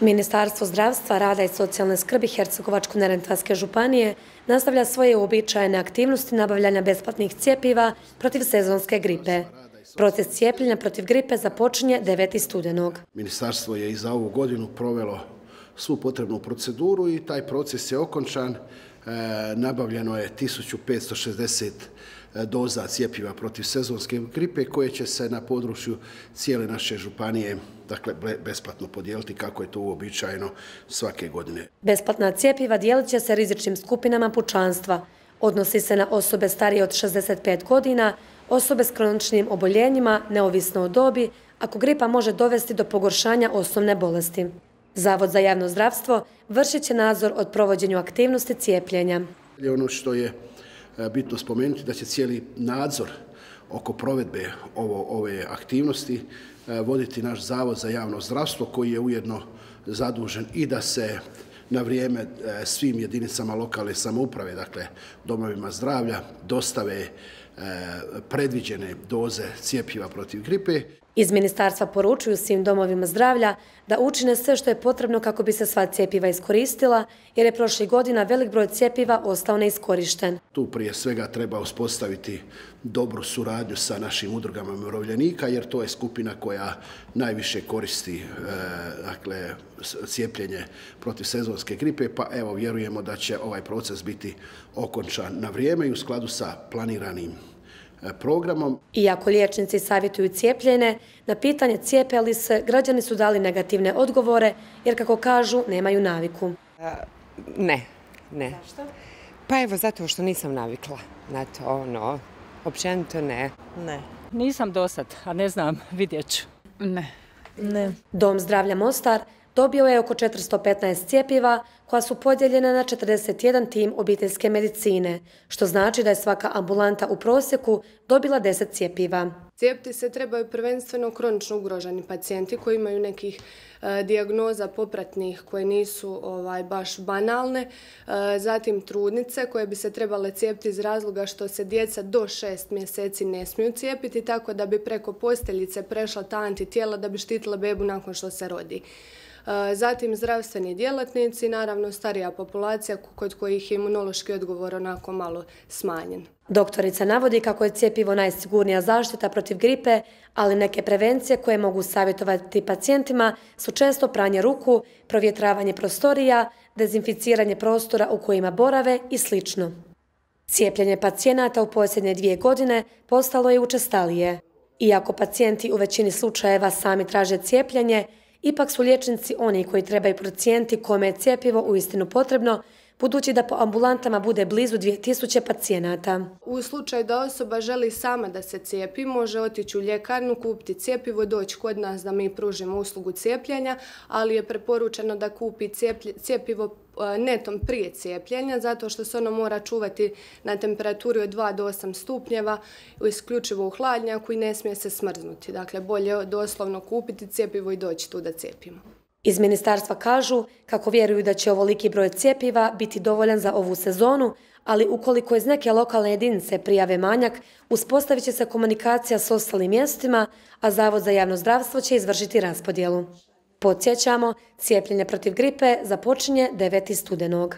Ministarstvo zdravstva, rada i socijalne skrbi Hercegovačko-neretvanske županije nastavlja svoje uobičajene aktivnosti nabavljanja besplatnih cjepiva protiv sezonske gripe. Proces cijepljenja protiv gripe započinje 9. studenog. Ministarstvo je i za ovu godinu provelo svu potrebnu proceduru i taj proces je okončan. Nabavljeno je 1560 doza cjepiva protiv sezonske gripe koje će se na području cijele naše županije besplatno podijeliti kako je to uobičajeno svake godine. Besplatna cjepiva dijelit će se rizičnim skupinama pučanstva. Odnosi se na osobe starije od 65 godina, osobe s kroničnim oboljenjima, neovisno o dobi, ako gripa može dovesti do pogoršanja osnovne bolesti. Zavod za javno zdravstvo vršit će nadzor od provođenju aktivnosti cijepljenja. Ono što je bitno spomenuti da će cijeli nadzor oko provedbe ove aktivnosti voditi naš Zavod za javno zdravstvo koji je ujedno zadužen i da se na vrijeme svim jedinicama lokalne samouprave, dakle domovima zdravlja, dostave predviđene doze cjepiva protiv gripe. Iz ministarstva poručuju svim domovima zdravlja da učine sve što je potrebno kako bi se sva cjepiva iskoristila, jer je prošlih godina velik broj cjepiva ostao neiskorišten. Tu prije svega treba uspostaviti dobru suradnju sa našim udrugama umirovljenika, jer to je skupina koja najviše koristi cijepljenje protiv sezonske gripe, pa evo vjerujemo da će ovaj proces biti okončan na vrijeme i u skladu sa planiranim programom. Iako liječnici savjetuju cijepljenje, na pitanje cijepe li se, građani su dali negativne odgovore, jer kako kažu, nemaju naviku. Ne. Zašto? Pa evo, zato što nisam navikla na to, općenito ne. Ne. Nisam dosad, a ne znam, vidjet ću. Ne. Dom zdravlja Mostar dobio je oko 415 cjepiva koja su podijeljena na 41 tim obiteljske medicine, što znači da je svaka ambulanta u prosjeku dobila 10 cjepiva. Cijepiti se trebaju prvenstveno kronično ugroženi pacijenti koji imaju nekih dijagnoza popratnih koje nisu baš banalne, zatim trudnice koje bi se trebale cijepiti iz razloga što se djeca do 6 mjeseci ne smiju cijepiti, tako da bi preko posteljice prešla ta antitijela da bi štitila bebu nakon što se rodi. Zatim zdravstveni djelatnici, naravno starija populacija kod kojih je imunološki odgovor onako malo smanjen. Doktorica navodi kako je cjepivo najsigurnija zaštita protiv gripe, ali neke prevencije koje mogu savjetovati pacijentima su često pranje ruku, provjetravanje prostorija, dezinficiranje prostora u kojima borave i sl. Cijepljenje pacijenata u posljednje 2 godine postalo je učestalije. Iako pacijenti u većini slučajeva sami traže cijepljenje, ipak su liječnici oni koji trebaju procijeniti kome je cjepivo uistinu potrebno, budući da po ambulantama bude blizu 2000 pacijenata. U slučaju da osoba želi sama da se cijepi, može otići u ljekarnu, kupiti cjepivo i doći kod nas da mi pružimo uslugu cijepljenja, ali je preporučeno da kupi cjepivo netom prije cijepljenja, zato što se ono mora čuvati na temperaturi od 2 do 8 stupnjeva, isključivo u hladnjaku i ne smije se smrznuti. Dakle, bolje doslovno kupiti cjepivo i doći tu da cijepimo. Iz ministarstva kažu kako vjeruju da će ovoliki broj cjepiva biti dovoljan za ovu sezonu, ali ukoliko iz neke lokalne jedinice prijave manjak, uspostavit će se komunikacija s ostalim mjestima, a Zavod za javno zdravstvo će izvršiti raspodjelu. Podsjećamo, cijepljenje protiv gripe započinje 9. studenog.